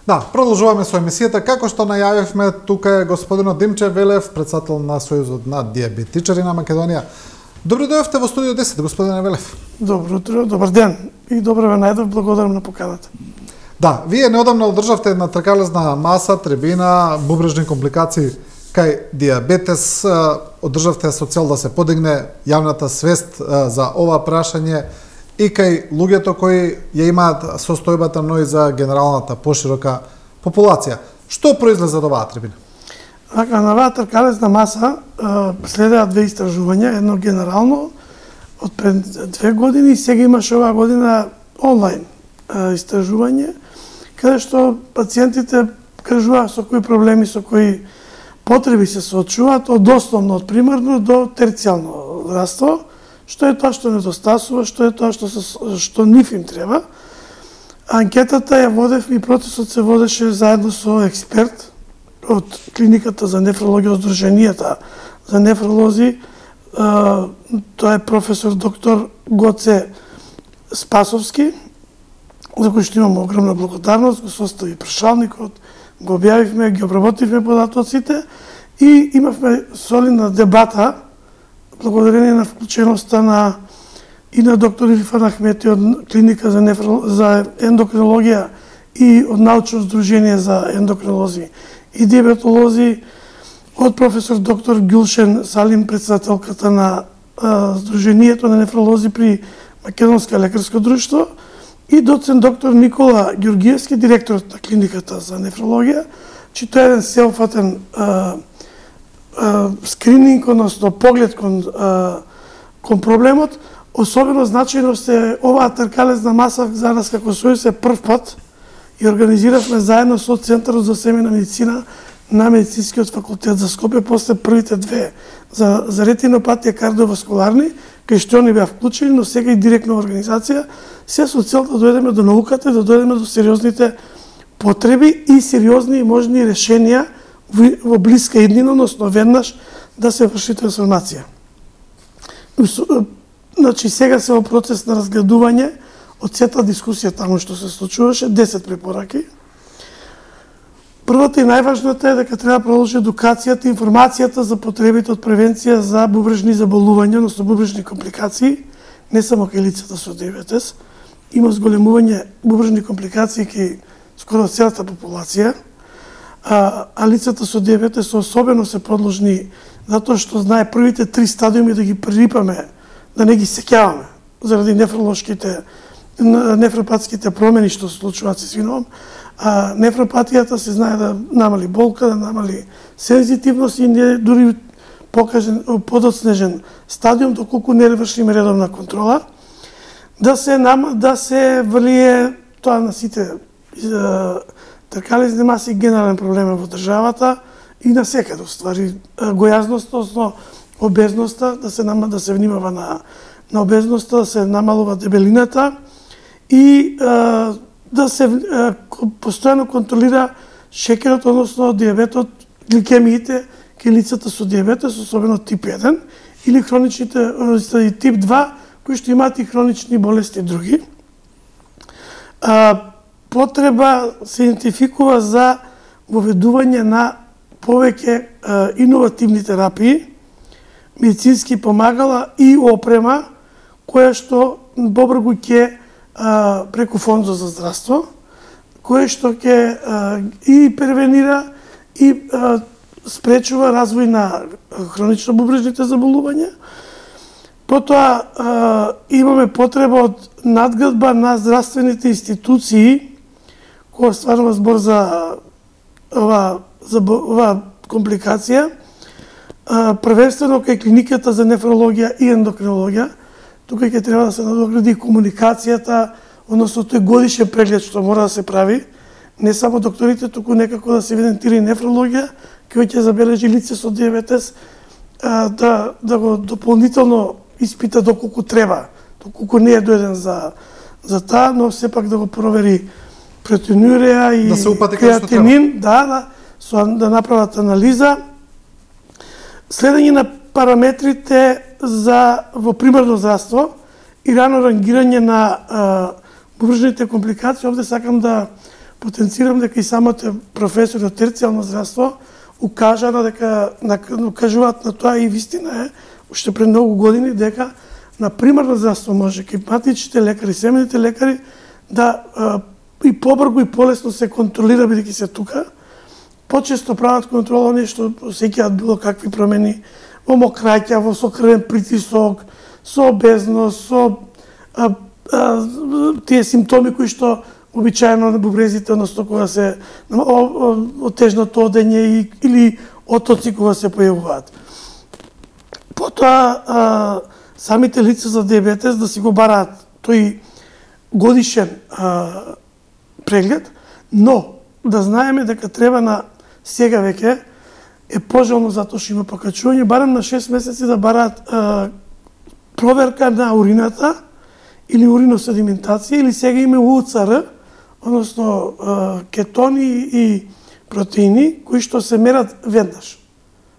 Да, продолжуваме со емисијата. Како што најавивме, тука е господинот Димче Велев, председател на Сојузот на дијабетичари на Македонија. Добро дојдовте во студио 10, господине Велев. Добро утро, добар ден и добро ве најдов, благодарам на поканата. Да, вие неодамно одржавте една тркалезна маса, трибина, бубрежни компликации кај дијабетес, одржавте со цел да се подигне јавната свест за ова прашање и кај луѓето кои ја имаат состојбата, но и за генералната поширока популација. Што произлезе од оваа трибина? Така, на оваа тркалезна маса следеа две истражувања, едно генерално од пред 2 години и сега имаше оваа година онлайн истражување, каде што пациентите кажуваат со кои проблеми, со кои потреби се соочуваат од основно, од примарно до терцијално здравство, што е тоа што недостасува, што е тоа што нив им треба. Анкетата ја водев и процесот се водеше заедно со експерт од клиниката за нефрологија, Сдруженијата за нефролози. Тоа е професор доктор Гоце Спасовски, за кој што имам огромна благодарност, го состави прашалникот, го објавивме, ги обработивме податоците и имавме солидна дебата благодарение на вклученоста и на доктор Ирфан Ахмети од клиника за ендокринологија и од научно здружение за ендокринолози и диабетолози, од професор доктор Гюлшен Салим, председателката на Сдруженијето на нефролози при Македонска лекарско друштво, и доцент доктор Никола Ѓоргиевски, директорот на клиниката за нефрологија, че тоа е еден сеопфатен скрининг, односно поглед кон проблемот. Особено значајно се оваа тркалезна маса за нас како Сојуз е прв пат и организиравме заедно со Центарот за семејна медицина на Медицинскиот факултет за Скопје после првите две за ретинопатија кардиоваскуларни, кај што они беа вклучени, но сега и директна организација, се со цел да дојдеме до науката, да дојдеме до сериозните потреби и сериозни и можни решенија во блиска иднина, односно веднаш да се врши трансформација. Значи, сега се во процес на разгледување од сета дискусија таму што се случуваше, 10 препораки. Првата и најважната е дека треба да продолжи едукацијата, информацијата за потребите од превенција за бубрежни заболувања, односно бубрежни компликации, не само кај лицата со диабетес. Има зголемување бубрежни компликации кај скоро целата популација, а лицата со диабетес особено се подложни затоа што знае првите 3 стадиуми да ги прерипаме, да не ги сеќаваме заради нефропатските промени што се случуваат се свиновам. Нефропатијата се знае да намали болка, да намали сензитивност и не дури подоцнежен стадиум доколку не вршиме редовна контрола. Да се влие тоа на сите тркалезни маси генерален проблем во државата и на секаде, ствари, гојазноста, односно обезноста, да се внимава на обезноста, да се намалува дебелината и да се постојано контролира шекерот, односно диабетот, гликемиите кај лицата со диабетес, особено тип 1 или хроничните тип 2, кои што имаат и хронични болести други. Потреба се идентификува за воведување на повеќе иновативни терапии, медицински помагала и опрема, која што побрзо ќе преку Фондот за здравство, кое што ќе и превенира и спречува развој на хронично бубрежните заболувања. Потоа имаме потреба од надградба на здравствените институции, која стварува збор за оваа компликација, првенствено кај клиниката за нефрологија и ендокринологија. Тука ќе треба да се надогради комуникацијата, односно тој годишен преглед што мора да се прави, не само докторите, туку некако да се евидентира и нефрологија, кој ќе забележи лице со диабетес, да го дополнително испита доколку треба, доколку не е дојден за таа, но сепак да го провери протеинурија и креатинин, да направат анализа. Следење на параметрите во примарно здравство и рано рангирање на бубрежните компликации. Овде сакам да потенцирам дека и самите професори од терцијално здравство укажана дека укажуваат на тоа и вистина е уште пред многу години дека на примарно здравство може кипатичните лекари, семените лекари да и побрзо и полесно се контролира бидејќи се тука. Почесто прават контрола нешто, сеќаат било какви промени во мокраќа, со крвен притисок, со обезност, со тие симптоми кои што обичаено на бубрезите, односно кога се отежното одење или отоци кога се појавуваат. Потоа самите лица за диабетес да си го бараат тој годишен преглед, но да знаеме дека треба на сега веќе е пожелно затоа што има покачување, барем на 6 месеци да бараат проверка на урината или уриноседиментација, или сега има УЦР, односно кетони и протеини кои што се мерат веднаш.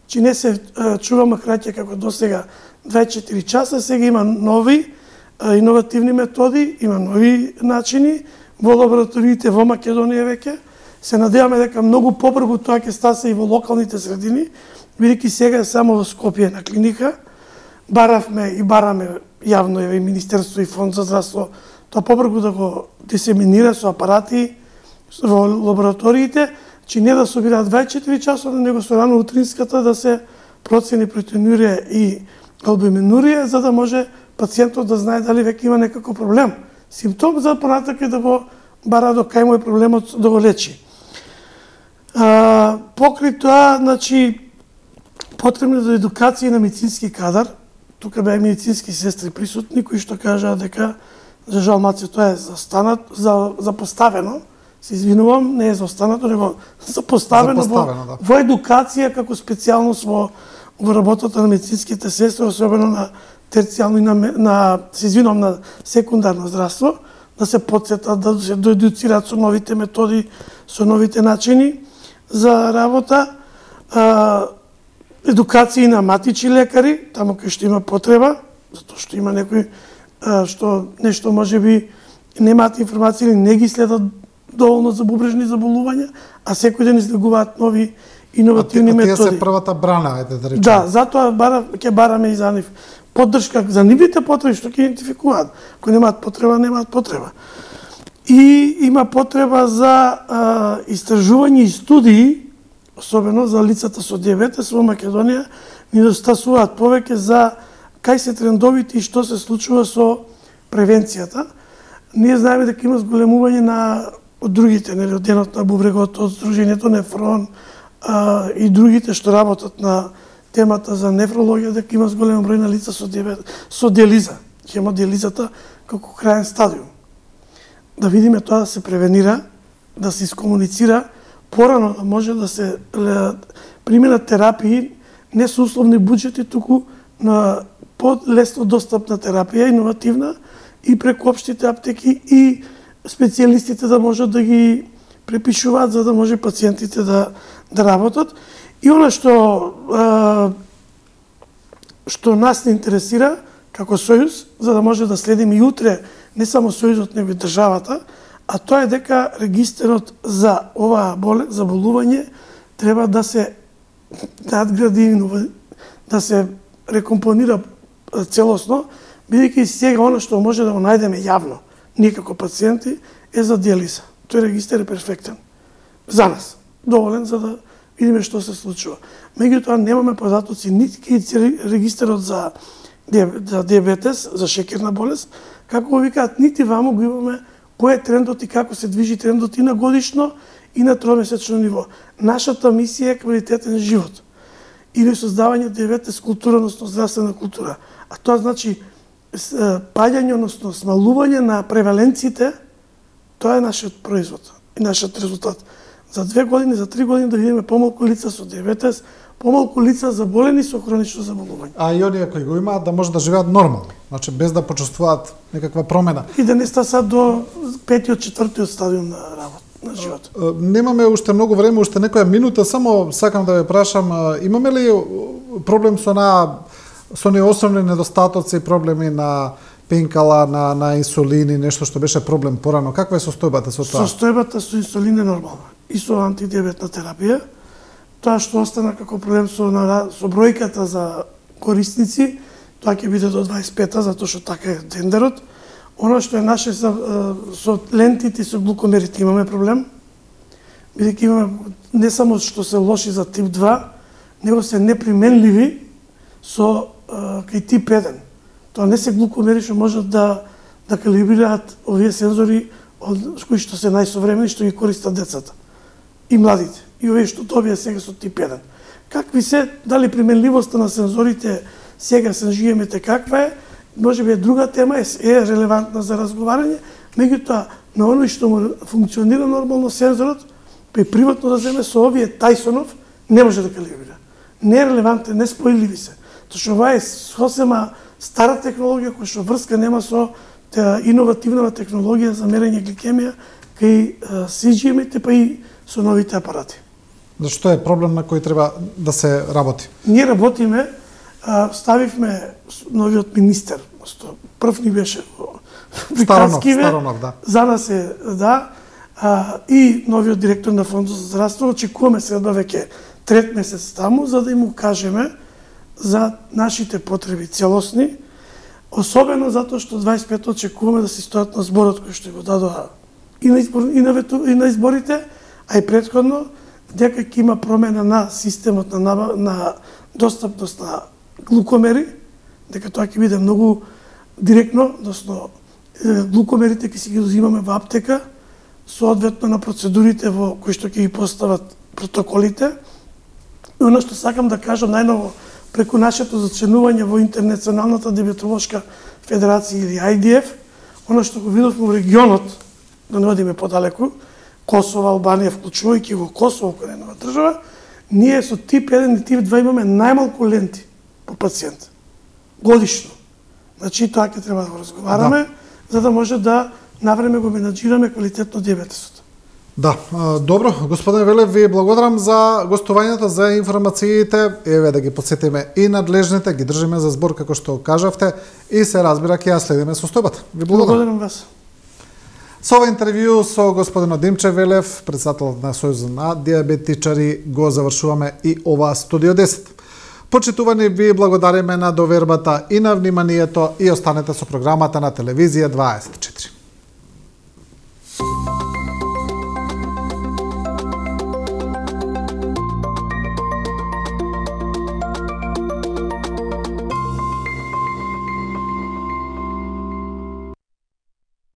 Чи не се чува макраќа како досега 24 часа, сега има нови иновативни методи, има нови начини во лабораториите во Македонија веќе. Се надеваме дека многу побрзо тоа ќе стане и во локалните средини, бидејќи сега е само во Скопје на клиника. Баравме и бараме јавно и Министерство и Фонд за здравство тоа побрзо да го дисеминира со апарати во лабораториите, че не да собираат 24 часот, него со рано утринската да се процени протеинурија и албуминурија, за да може пациентот да знае дали веќе има некако проблем. Симптом за понатак е да го бара до кај му е проблемот да го лечи. Покрај тоа, значи, потребна за едукација на медицински кадар. Тука беа медицински сестри присутни кои што кажаа дека за жал маци тоа е запоставено. Се извинувам, не е заостанато, него запоставено во едукација како специјалност во работата на медицинските сестри, особено на терцијално и се извинувам, на секундарно здравство, да се потсетат, да се доедуцираат со новите методи, со новите начини за работа. Едукација на матични лекари, таму кај што има потреба, затоа што има некои што нешто можеби немаат информација или не ги следат доволно за бубрежни заболувања, а секој ден излегуваат нови иновативни методи. Тие се првата брана, ајде да речеме. Да, затоа ќе бараме и за нив поддршка за нивните потреби што ќе идентификуваат. Ако немаат потреба, немаат потреба. И има потреба за истражување и студии, особено за лицата со диабетес во Македонија, ни достасуваат повеќе за кај се трендовите и што се случува со превенцијата. Ние знаеме дека има зголемување на од другите, нели, од денот на бубрегот, од Сдруженијето Нефрон и другите што работат на темата за нефрологија, дека има зголем број на лица со диабет, со диализа, хемодиализата како краен стадиум. Да видиме тоа да се превенира, да се искомуницира, порано да може да се применат терапии, не со условни буџети, туку на подлесно достапна терапија, иновативна, и преку општите аптеки и специјалистите да можат да ги препишуваат за да може пациентите да работат. И она што нас не интересира како Сојуз, за да може да следиме и утре не само Сојузот, него и државата, а тоа е дека регистерот за оваа заболување треба да се надгради, да се рекомпонира целосно, бидејќи сега она што може да го најдеме јавно, ние како пациенти, е за диализа. Тој регистер е перфектен за нас, доволен за да видиме што се случува. Меѓутоа немаме податоци нити кај регистерот за диабетес, за шеќерна болест, како го викаат, нити ваму го имаме кој е трендот и како се движи трендот и на годишно и на тромесечно ниво. Нашата мисија е квалитетен живот или создавање диабетес култура, односно здравствена култура. А тоа значи паѓање, односно смалување на преваленциите, тоа е нашиот производ и нашиот резултат. За 2 години, за 3 години да видиме помалку лица со диабетес, помалку лица заболени со хронично заболување. А и оние кои го имаат да може да живеат нормално, значи без да почувствуваат некаква промена. И да не стасат до 5-тиот, 4-тиот стадиум на работа, на живот. Немаме уште многу време, уште некоја минута, само сакам да ве прашам, имаме ли проблем со оние основни недостатоци, проблеми на пенкала на инсулини, нешто што беше проблем порано. Каква е состојбата со тоа? Состојбата со инсулин е нормална и со антидиабетна терапија. Тоа што остана како проблем со бројката за корисници, тоа ќе биде до 25-та, затоа што така е тендерот. Оно што е наше со лентите и со глукомерите имаме проблем, бидејќи имаме не само што се лоши за тип 2, него се неприменливи со кај тип 1. Тоа не се глукомери што можат да калибрираат овие сензори кои што се најсовремени, што ги користат децата и младите. И овие што добија сега со тип 1. Какви се, дали применливоста на сензорите сега се живеемете каква е, може би е друга тема, е релевантна за разговарање, меѓутоа на оној што му функционира нормално сензорот, при приватно да земе со овие Тайсонов, не може да калибрира. Не е релевантен, не спојливи се. Тоа што ова е сосема стара технологија која што врска нема со иновативна технологија за мерење гликемија кај CGM-ите, па и со новите апарати. Зашто е проблем на кој треба да се работи? Ние работиме, ставивме новиот министер, прв ни беше приказкиве, да. За нас е, да, и новиот директор на Фондот за здравство, очекуваме се да веќе трет месец таму, за да им укажеме за нашите потреби целосни, особено затоа што 25 очекуваме да се стојат на зборот кој што го дадоа и на изборите, а и претходно, дека ќе има промена на системот на достапност на глукомери, дека тоа ќе биде многу директно, односно глукомерите ќе си ги дозимаме во аптека, соодветно на процедурите во кои што ќе ги постават протоколите. И оно што сакам да кажам најново, преку нашето зачленување во Интернационалната диабетолошка федерација или IDF, оно што го видовме во регионот, да не одиме подалеку, Косово, Албанија, вклучувајќи го Косово кој е нова држава, ние со тип 1 и тип 2 имаме најмалку ленти по пациент годишно. Значи тоа ќе треба да го разговараме, за да може да навреме го менаџираме квалитетно диабетесот. Да, добро, господине Велев, ви благодарам за гостувањето, за информациите, еве да ги подсетиме и надлежните, ги држиме за збор како што кажавте и се разбира ќе ја следиме состојбата. Ви благодарам. Благодарам вас. Со ова интервју со господинот Димче Велев, претседател на Сојузот на диабетичари, го завршуваме и ова Студио 10. Почитувани, ви благодариме на довербата и на вниманието и останете со програмата на Телевизија 20.